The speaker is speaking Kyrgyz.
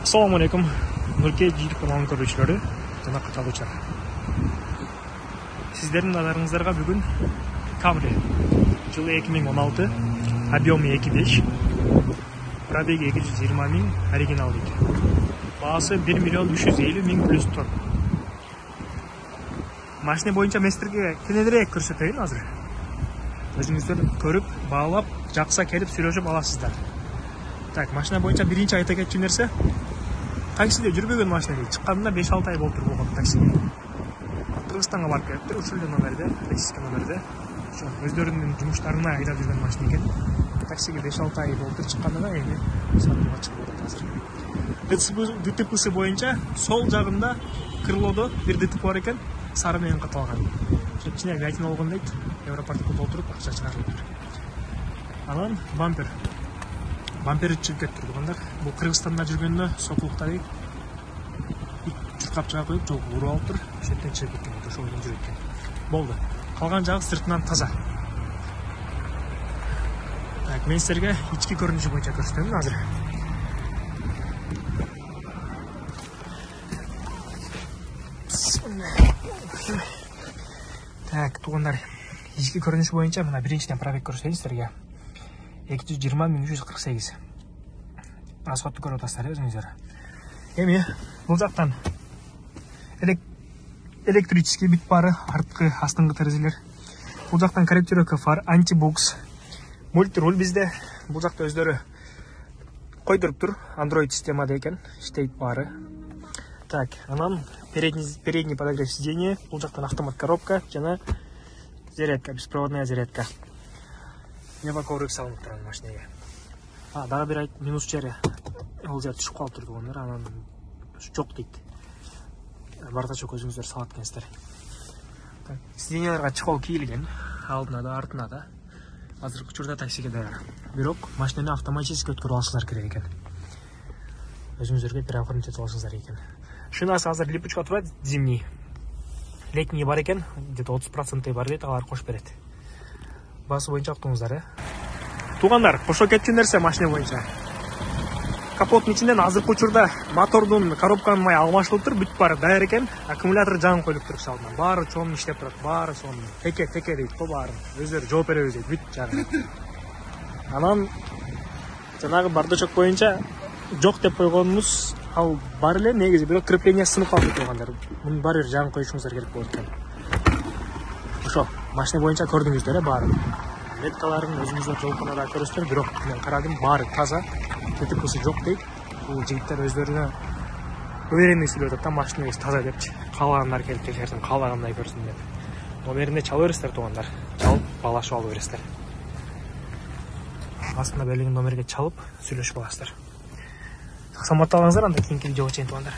Assalamu alaikum. Nurke жийлик каналынын көрүүчүлөрү жана катталуучулар. Сиздердин назарыңыздарга бүгүн Camry жылы 2016, объему 2.5, пробеги 220 миң, оригинал дейт. Баасы 1 миллион 350 миң плюс тон. Машина боюнча местерге кененирээк көрсөтөйүн азыр. Өзүңүздөр көрүп, баалап, жакса келип сүйлөшүп аласыздар. Так, машина боюнча биринчи айта кетчү нерсе, таксиде жүрбөгөн машина дейт. Чыкканына 5-6 ай болуптур болгон таксиге. Кыргызстанга барып келиптир, ушул эле номерде, российский номерде. Ошо өздөрүнүн жумуштарына айдап жүргөн машина экен. Таксиге 5-6 ай болуптур, чыкканына эми сатууга чыгып атат азыр. ДТПсы боюнча сол жагында крылодо бир ДТП бар экен, сары менен каталган. Ошо ичине гаитин болгон дейт, Европартка толтуруп акча чыгарылыптыр. Анан бампери чыгып кетти тургундар. Бул Кыргызстанда жүргөндө сокулукта дейт. Чуркап чыга коюп, жол уруп алыптыр. Ошондон чыгып кеткен, ошол менен жүрөт экен. Болду. Калган жагы сыртынан таза. Так, мен силерге ички көрүнүшү боюнча көрсөтөмүн азыр. Так, туугандар, ички көрүнүшү боюнча мына биринчиден пробег көрсөтөйүн силерге. 220.348. Расходду көрүп атасыздар өзүңүздөр. Эми бул жактан электрический бүт бары, арткы, астыңкы терезелер. Бул жактан корректировка фар, антибукс, мультируль bizde. Бул жакта өздөрү койдуруптур, Android системада экен, иштейт баары. Так, анан передний подогрев сиденья, бул жактан автомат коробка жана зарядка, беспроводная зарядка. Неба коврик салынып турган машинеге. Дагы бир минус чейре. Ол жер түшүп калып турду ондар, анан жок дейт. Бардачок өзүңүздөр салат экенсиздер. Так, сиденьяларга чехол кийилген, алдына да, артына да. Азыркы учурда таксиге даяр. Бирок машинаны автоматически өткөрүп алышыңыздар керек экен. Өзүңүздөргө переоформить этип алышыңыздар экен. Шинасы азыр липучка турат, зимний. Летний бар экен, где-то 30% бар дейт, алар кош берет. Басы боюнча уктуңуздар, Туугандар, кошо кетчү нерсе машина боюнча. Капоттун ичинен азыркы учурда мотордун, коробканын май алмашылыптыр, бүт баары даяр экен. Аккумулятор жаңы коюлуптур салына. Баары чоң иштеп турат, баары сонун. Теке дейт го баарын. Өздөрү жооп беребиз дейт, бүт жагы. Анан жанагы бардачок боюнча жок деп койгонумуз ал бар эле негизи, бирок крепление сынып калды туугандар. Муну баары бир жаңы коюшуңуздар керек болот экен. Ошо, машина боюнча көрдүңүздөр, баары. Меткаларын өзүңүздөр жолкунада көрөсүздөр, бирок мен карадым, баары таза. ДТПсы жок дейт. Бул жигиттер өздөрүнө уверенный сүйлөп атат да, машинаңыз таза депчи. Каалагандар келип текшерсин, каалагандай көрсүн деп. Номерине чалып бересиздер туугандар. Чалып, баалашып алып бересиздер. Астына берилген номерге чалып, сүйлөшүп аласыздар. Саламатта болуңуздар, анда кийинки видеого чейин туугандар.